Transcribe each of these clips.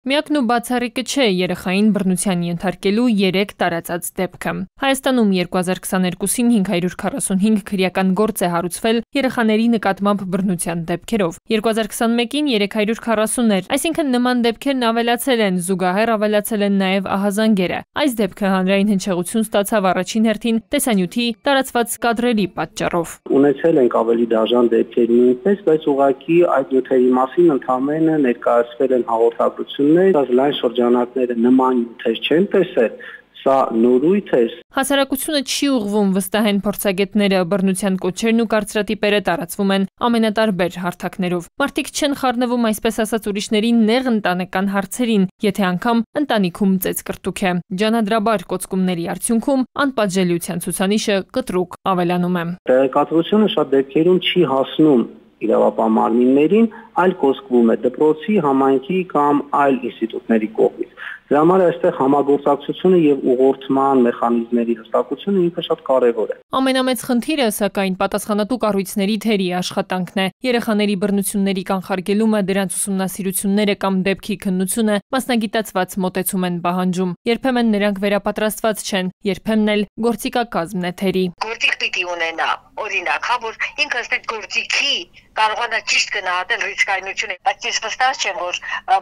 Միակն ու բացառիկը չէ երեխային բռնության ենթարկելու 3 տարածած դեպքը։ Հայաստանում 2022-ին 545 քրեական գործ է հարուցվել երեխաների նկատմամբ բռնության դեպքերով։ 2021-ին 340 էր, այսինքն նման դեպքերն ավելացել են, զուգահեռ ավելացել են նաև ահազանգերը։ Այս դեպքը հանրային հնչեղություն ստացավ առաջին հերթին տեսանյութի տարածված կադրերի պատճառով։ Ունեցել ենք ավելի դաժան դեպքեր նույնպես, բայց ուղղակի այդ նյութերի մասին ընդհանրապես ներկայացվել են հաղորդագրություններ, բայց լայն շրջանակները նման նյութեր չեն տեսել, սա նորույթ է։ Հասարակությունը չի ուղղվում վստահեն փորձագետները, բռնության կոչերն ու կարծրատիպերը տարածվում են ամենատարբեր հարթակներով։ Մարդիկ չեն խառնվում այսպես ասած ուրիշների նեղ ընտանեկան հարցերին, եթե անգամ ընտանիքում ծեծկրտուք է։ Ջանադրաբար կոծկումների արդյունքում անպատժելիության ցուցանիշը կտրուկ ավելանում է։ Տեղեկատվությունը շատ դեպքերում չի հասնում իրավապահ մարմիններին, այլ կոծկվում է դպրոցի, համայնքի կամ այլ ինստիտուտների կողմից։ Դրա համար այստեղ համագործակցությունը եւ ուղղորդման մեխանիզմների հստակությունը ինքը շատ կարեւոր է։ Ամենամեծ խնդիրը, սակայն, պատասխանատու կառույցների թերի աշխատանքն է։ Երեխաների բռնությունների կանխարգելումը, դրանց ուսումնասիրությունները կամ դեպքի քննությունը մասնագիտացված մոտեցում են պահանջում։ Երբեմն նրանք վերապատրաստված չեն, երբեմն էլ գործիքակազմն է թերի։ Գործիք պիտի ունենա, օրինակ, որ ինքը այդ գործիքի կարողանա ճիշտ գնահատել ռիսկայնությունը, բայց ես վստահ չեմ, որ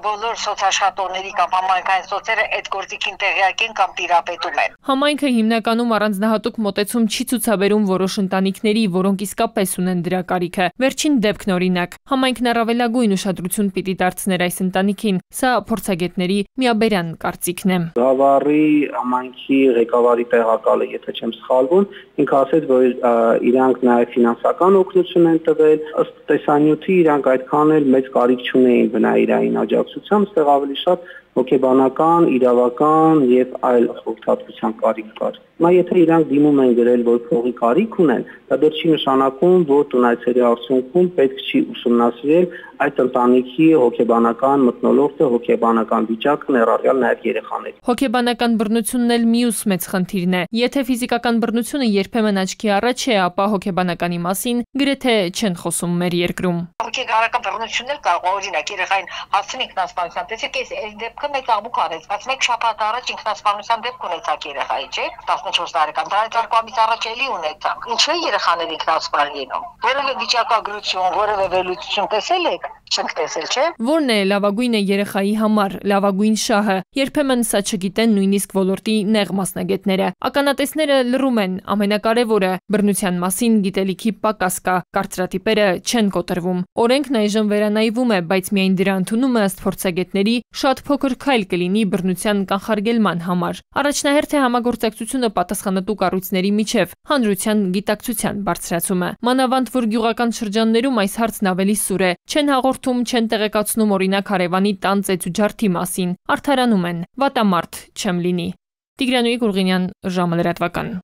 բոլոր սոցաշխատողների կամ համայնքային սոցերը այդ գործիքին տեղյակ են կամ տիրապետում են։ Համայնքը հիմնականում առանձնահատուկ մոտեցում չի ցուցաբերում որոշ ընտանիքների, որոնք իսկապես ունեն դրա կարիքը։ Վերջին դեպքն օրինակ, համայնքն առավելագույն ուշադրություն պիտի դարձներ այս ընտանիքին։ Սա փորձագետների միաբերան կարծիքն է։ Գավառի համայնքի ղեկավարի տեղակալը, եթե չեմ սխալվում, ինքը ասեց, որ իրանք նաև ֆինանսական օգնություն են տվել, ըստ տեսանյութի իրանք այդքան էլ մեծ կարիք չունեին բնայիրային աջակցությամբ, այստեղ ավելի շատ հոգեբանական, իրավական եւ այլ խորհրդատվության կարիք կար։ Հիմա եթե իրանք դիմում են գրել, որ փողի կարիք ունեն, դա դեռ չի նշանակում, որ տունայցերի արդյունքում պետք չի ուսումնասիրել այդ ընտանիքի հոգեբանական մթնոլորտը, հոգեբանական վիճակը, ներառյալ նաև երեխաների։ Հոգեբանական բռնությունն էլ մյուս մեծ խնդիրն է։ Եթե ֆիզիկական բռնությունը երբեմն աչքի առաջ է, ապա հոգեբանականի մասին գրեթե չեն խոսում մեր երկրում։ Հոգեբանական բռնություններ կարող օրինակ երեխային հասցնի ինքնասպանության, տեսեք, այս դեպքը մեկ աղմուկ արեց, բայց մեկ շաբաթ առաջ ինքնասպանության դեպք ունեցաք երեխայի, չէ՞, 14 տարեկան, դրանից 2 ամիս առաջ էլի ունեցաք։ Ինչու է երեխաները ինքնասպան լինում։ Որևէ վիճակագրություն, որևէ վերլուծություն տեսել եք։ Չենք տեսել, չէ՞։ Որն է լավագույնը երեխայի համար, լավագույն շահը։ Երբեմն սա չգիտեն նույնիսկ ոլորտի նեղ մասնագետները։ Ականատեսները լռում են, ամենակարևորը բռնության մասին գիտելիքի պակաս կա, կարծրատիպերը չեն կոտրվում։ Օրենքն այժմ վերանայվում է, բայց միայն դրա ընդունումը ըստ փորձագետների շատ փոքր քայլ կլինի բռնության կանխարգելման համար։ Առաջնահերթ է համագործակցությունը պատասխանատու կառույցների միջև, հանրության գիտակցության բարձրացումը։ Մանավանդ որ գյուղական շրջաններում այս հարցն ավելի սուր է, չեն հաղորդում, չեն տեղեկացնում օրինակ հարևանի տան ծեծուջարդի մասին, արդարանում են, վատամարդ չեմ լինի։ Տիգրանուհի Գուրգինյան, ժամը լրատվական։